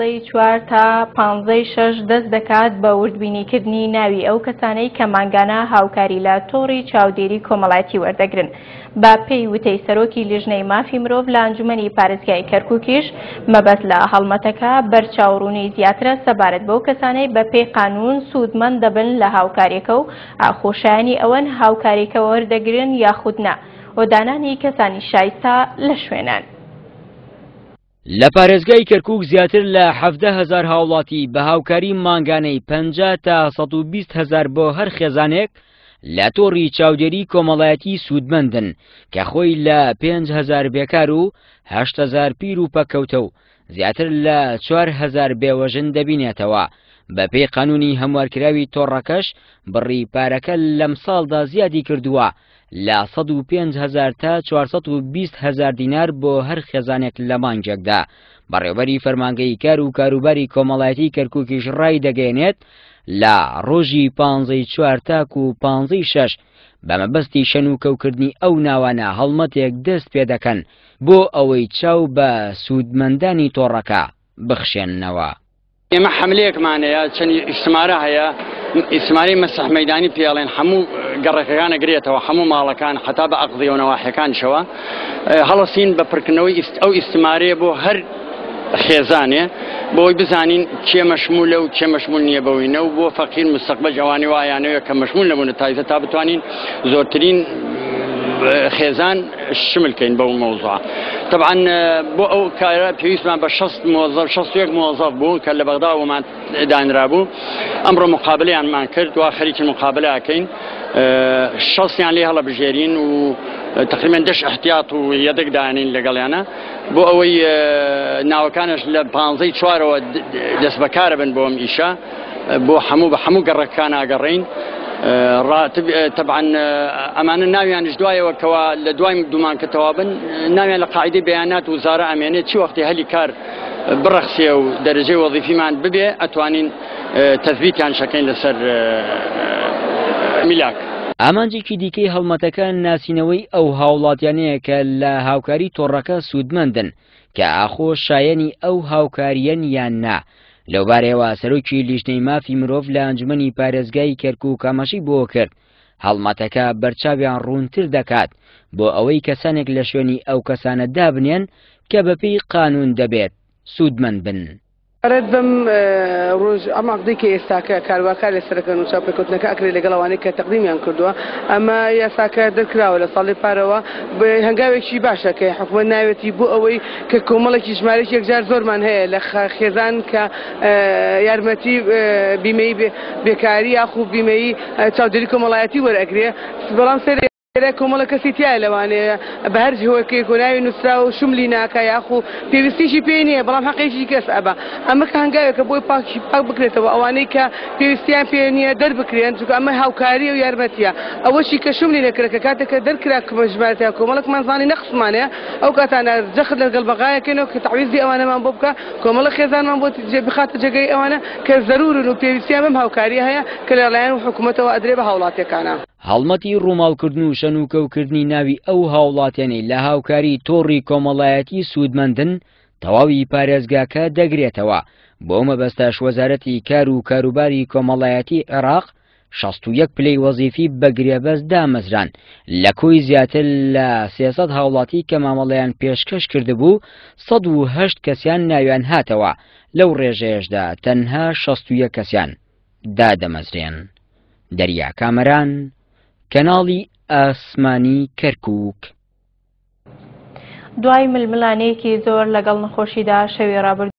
ی چوار تا پانزەی شەش دەست دەکات بە وردبینیکردنی ناوی ئەو کەسانەی کە مانگانە هاوکاری لە تۆڕی چاودێری کۆمەڵایەتی وەردەگرن. بە پێی وتەی سەرۆکی لیژنەی مافی مرۆڤ لە ئەنجومەنی پارێزگای کەرکوکیش، مەبەست لە هەڵمەتەکە بەرچاوڕوونی زیاترە سەبارەت بەو کەسانەی بە پێی قانوون سوودمەند دەبن لە هاوکاریەکە و ئاخۆ شایەنی ئەوەن هاوکاریەکە وەردەگرن یاخود نا و دانانی کەسانی شایستە لە شوێنان. لە پارێزگای کەرکوک زیاتر لە 17 هەزار هاوڵاتی بە هاوکاری مانگانەی 50 تا 120 هەزار بۆ هەر خێزانێک لە تۆڕی چاودێری کۆمەڵایەتی سوودمەندن کە خۆی لە 5 هەزار بێکار و 8 هەزار پیر و پەککەوتە و زیاتر لە 4 هەزار بێوەژن دەبینێتەوە. بەپێی قانونی هەموارکراوی تۆڕەکەش بڕی پارەکە لەم ساڵدا زیادی کردووە لە 105 هەزار تا 420 هەزار دینار بۆ هەر خێزانێک لە مانگێکدا. بەڕێوبەری فەرمانگەی کار و کاروباری کۆمەڵایەتی کەرکووکیش ڕای دەگەیەنێت لە ڕۆژی پانزەی چوار تاکو پانزەی شەش بە مەبەستی شەن و کەوکردنی ئەو ناوانە هەڵمەتێک دەست پێ دەکەن بۆ ئەوەی چاو بە سوودمەندانی تۆڕەکە بخشێننەوە. ئێمە حەملەیەکمان هەیە، چەند ئیستمارە هەیە، ئیستمارەی مەسح مەیدانی پێڵێن، هەموو گەڕەکەکان ئەگرێتەوە، هەموو ماڵەکان حتا بە ئەقضیە و نەواحیەکانیشەوە. هەڵەسین بە پڕکردنەوەی ئەو ئیستمارەیە بۆ هەر خێزانێ بۆی بزانین کێ مەشمولە و کێ مەشمول نییە بەوینە و بۆ فەقیر مستەقبەل ئەوانەی وایانەوە کە مەشمول نەبوونە تایزە تا بتوانین زۆرترین خێزان شمل کەین بەو مەوزوعە. طبعا بۆ ئەو کارە پێویستمان بە 60 موظف 61 موظف بوو کە لە بەغدا ومان دانرابوو. ئەمڕۆ مقابلەیانمان کرد وا خەریکی مقابلە ئەکەین، شەستیان لێ هەڵەبژێرین و تقریبا دەش احتیاط و یەدەک دانین لەگەڵیانە بۆ ئەوەی ناوەکانش لە پانزەی چوارەوە دەست بەکارە بن بۆ ئەم ئیشە. بۆ هەموو بە هەموو گەڕەکان ئاگەڕین ڕاتب طبعا ئەمانە ناویانش دوایەوە کەوا لە دوای دومان کە تەوابن ناویان لە قاعدەی بەیانات وزارە ئەمێنێت، چی وەختی هەلی کار بڕەخسێ و دەرەجەی وەظیفیمان ببێ ئەتوانین تەثبیتیان شەکەین لەسەر میلاک. ئامانجێکی دیکەی هەڵمەتەکە ناسینەوەی ئەو هاوڵاتیانەیە کە لە هاوکاری تۆڕەکە سوودمەندن کە ئاخۆ شایەنی ئەو هاوکارییەن یان نا. لەوبارەیەوە سەرۆکی لیژنەی مافی مرۆڤ لە ئەنجومەنی پارێزگای کەرکوک ئاماژەی بۆ کرد هەڵمەتەکە بەرچاویان ڕوونتر دەکات بۆ ئەوەی کەسانێک لە شوێنی ئەو کەسانە دابنێن کە بەپێی قانون دەبێت سوودمەند بن. سەبارەت بەم ڕۆژ ئەم عەقدەی کە ئێستاکە کارواکار لەسەرەکەن و چاوپێکەوتنەکە ئەکرێت لەگەڵ ئەوانەی کە تەقدیمیان کردووە، ئەمە یاساکە دەرکراوە لە ساڵی پارەوە، هەنگاوێکی باشە کە حکومەت ناوێتی بۆ ئەوەی کە کۆمەڵێکی ژمارەیەکی یەکجار زۆرمان هەیە لە خێزان کە یارمەتی بیمەی بێکاری یاخو بیمەی چاودێری کۆمەڵایەتی وەرئەگرێ، بەڵام سەیرە کۆمەڵە کەسی تیایە لەوانەیە بە هەر هۆکێک و ناوی نووسراوە و شملی ناکا یاخو پێویستیشی پێی نییە، بەڵام حەقێکی کەس ئەبا. ئەمە کە هەنگاوێکە بۆی پاکی پاک بکرێتەوە، ئەوانەی کە پێویستیان پێ نییە دەربکرێن، چونکە ئەمە هاوکاریە و یارمەتیە. ئەوەشی کە شملی نەکرا کە کاتێک کە دەرکرا ژمارەتیان کۆمەڵێکمان زانی نەقسمان هەیە، ئەو کاتانە جەخت لەگەڵ بەغایەکەینەوە کە تەعویزی ئەوانەمان بۆ بکا، کۆمەڵە خێزانمان بۆ بخاتە جێگەی ئەوانە کە زەرورن و پێویستیان بەم هاوکاریە هەیە کە لەلایەن حکومەتەوە ئەدرێ بە هاوڵاتیەکانە. هەڵمەتی ڕووماڵکردن و شەنوکەوکردنی ناوی ئەو هاوڵاتیانەی لە هاوکاری تۆڕی کۆمەڵایەتی سوودمەندن تەواوی پارێزگاکە دەگرێتەوە، بۆ مەبەستەش وەزارەتی کار و کاروباری کۆمەڵایەتی عێراق 61 پلەی وەزیفی بە گرێبەست دامەزران لە کۆی زیاتر لە 300 هاوڵاتی کە مامەڵەیان پێشکەش کردبوو 108 کەسیان ناویان هاتەوە، لەو ڕێژەیەشدا تەنها 61 کەسیان دادەمەزرێن. دەریا کامەران، کەناڵی ئاسمانی کەرکووک. دوای ململانێیەکی زۆر لەگەڵ نەخۆشیدا شەوی ڕابردوو.